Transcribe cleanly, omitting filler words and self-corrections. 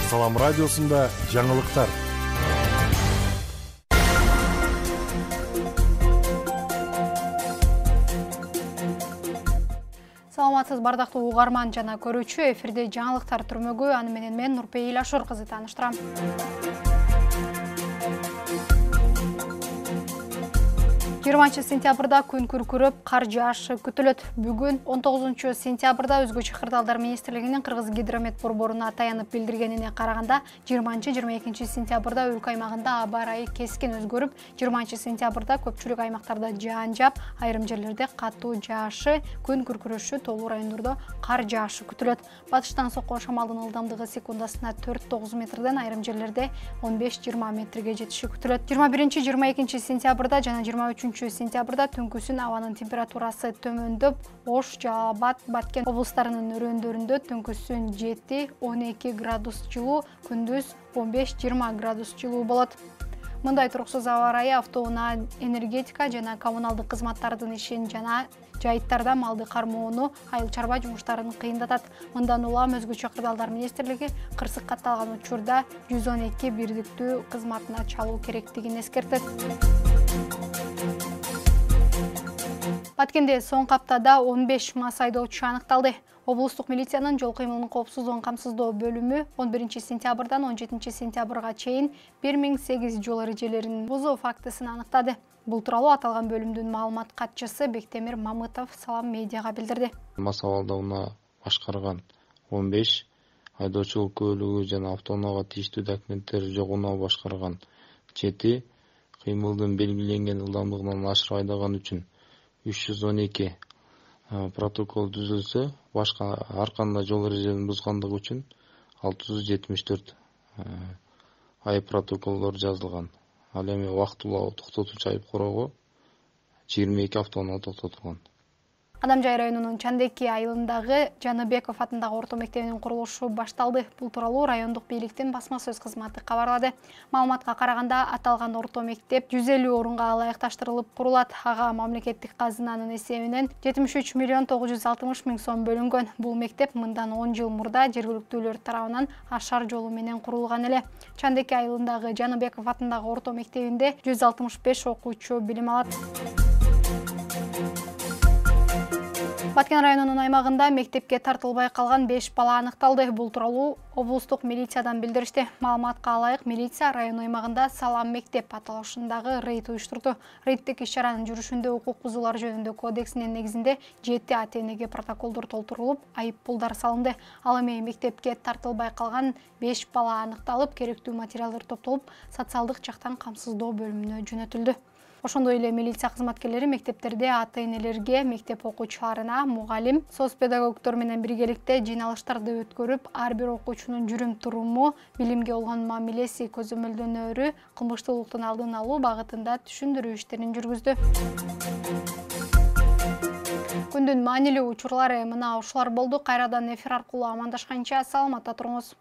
Салам радиосунда жаңылыктар. Саламатсыз бардактуу угарман жана көрүүчү, эфирде жаңылыктар түрмөгү, аны менен мен Нурпейил Ашур кызы тааныштырам. 20 сентябрда күн күркүрөп, кар жаашы күтүлөт. Бүгүн 19 сентябрда Өзгөчө кырдаалдар министрлигинин Кыргыз гидромет борборуна таянып билдиргенине караганда, 20-22 сентябрда өлкө аймагында аба ырайы кескин өзгөрүп, 20 сентябрда көпчүлүк аймактарда жаан жаап, айрым жерлерде катуу жаашы, күн күркүрөшү, тоолуу райондордо кар жаашы күтүлөт. Батыштан соккон шамалдын ылдамдыгы секундасына 4-9 метрден, айрым жерлерде 15-20 метрге жетиши күтүлөт. 21-22 сентябрда жана 23 сентябрда түнкүсүн абанын температурасы төмөндөп, Ош, Жалал Абад, Баткен облустарынын өрөөндөрүндө түнкүсүн 7-12 градус жылуу, күндүз 15-20 градус жылуу болот. Мындай туруксуз аба ырайы автоунаа, энергетика жана коммуналдык кызматтардын ишин жана жайыттарда малды кармоону, айыл чарба жумуштарын кыйындатат. Мындан улам Өзгөчө кырдаалдар министрлиги кырсык катталган учурда 112 бирдиктүү кызматына чалуу керектигин эскертет. Баткенде соңку аптада 15 мас айдоочу аныкталды. Облустук милициянын жол кыймылынын коопсуздугун камсыздоо бөлүмү 11 сентябрдан 17 сентябрга чейин 1008 жол эрежелерин бузуу фактысын аныктады. Бул тууралуу аталган бөлүмдүн маалымат катчысы Бектемир Мамытов Салам медиага билдирди. Мас абалда унаа башкарган 15, айдоочулук куөлүгү жана автоунаага тийиштүү документтери жок унаа башкарган 7, кыймылдын белгиленген ылдамдыгынан ашырып айдаган үчүн 312 протокол түзүлсө, башка ар кандай жол эрежелерин бузгандыгы үчүн 674 айып протоколдор жазылган. Ал эми убактылуу токтотуучу айып короого 22 автоунаа токтотулган. Адамжай районунун Чандеки айылындагы Жаныбеков атындагы орто мектебинин курулушу башталды. Бул тууралуу райондук бийликтин басма сөз кызматы кабарлады. Маалыматка караганда, аталган орто мектеп 150 орунга ылайыкташтырылып курулат. Ага мамлекеттик казынанын эсебинен 73 миллион 960 миң сом бөлүнгөн. Бул мектеп мындан 10 жыл мурда жергиликтүүлөр тарабынан ашар жолу менен курулган эле. Чандеки айылындагы Жаныбеков атындагы орто мектебинде 165 окуучу билим алат. Баткен районунун аймагында мектепке тартылбай калган 5 бала аныкталды. Бул тууралуу облустук милициядан билдиришти. Маалыматка ылайык, милиция район аймагында Салам мектеп аталышындагы рейд уюштурду. Рейдтик иш-чаранын жүрүшүндө укук бузуулар жөнүндө кодексинин негизинде 7 ата-энеге протоколдор толтурулуп, айып пулдар салынды. Ал эми мектепке тартылбай калган 5 бала аныкталып, керектүү материалдар топтолуп, социалдык жактан камсыздоо бөлүмүнө жөнөтүлдү. Ошондой эле милиция кызматкерлери мектептерде ата-энелерге, мектеп окуучуларына, мугалим, соцпедагогдор менен биргеликте жыйналыштарды өткөрүп, ар бир окуучунун жүрүм-туруму, билимге болгон мамилеси көзөмөлдөнөрү, кылмыштуулуктун алдын алуу багытында түшүндүрүү иштерин жүргүздү. Күндүн маанилүү учурлары мына ушулар болду. Кайрадан эфир аркылуу амандашканча саламатта туруңуз.